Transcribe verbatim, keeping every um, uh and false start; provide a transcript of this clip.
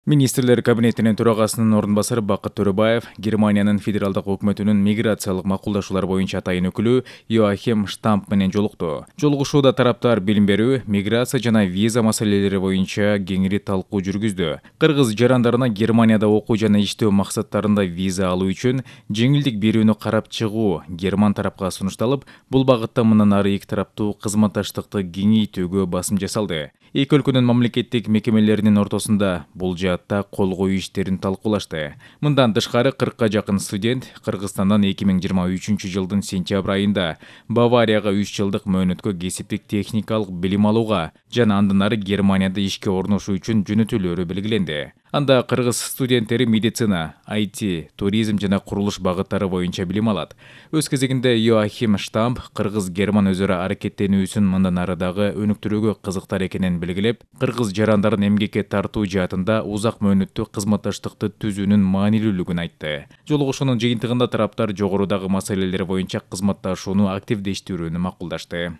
Министрлер кабинетинин төрагасынын орун басары Бакыт Төрөбаев Германиянын федералдык өкмөтүнүн миграциялык макулдашуулар боюнча атайын өкүлү Йоахим Штамп менен жолукту. Жолугушууда тараптар билим берүү, миграция жана виза маселелери боюнча кеңири талкуу жүргүздү. Кыргыз жарандарына Германияда окуу жана иштөө максаттарында виза алуу үчүн жеңилдик берүүнү карап чыгуу Герман тарапка сунушталып, бул багытта мындан ары эки тараптуу кызматташтыкты кеңейтүүгө басым жасалды. Эки өлкөнүн мамлекеттик мекемелеринин ортосунда бул жаатта кол коюу иштерин талкуулашты. Мындан тышкары кыркка жакын студент Кыргызстандан эки миң жыйырма үчүнчү жылдын сентябрь айында Баварияга үч жылдык мөөнөткө кесиптик техникалык билим алууга жана андан ары Германияда ишке орношуу үчүн жөнөтүлөөрү белгиленди. Анда кыргыз студенттери медицина, ай ти, туризм жана курулуш багыттары боюнча билим алат. Өз кезегинде Йоахим Штамп кыргыз-герман өзү ара аракеттенүүсүн мындан ары дагы өнүктүрүүгө кызыктар экенин белгилеп, кыргыз жарандарын эмгекке тартуу жаатында узак мөөнөттүү кызматташтыкты түзүүнүн маанилүүлүгүн айтты. Жолугушуунун жыйынтыгында тараптар жогорудагы маселелер боюнча кызматташууну активдештирүүнү макулдашты.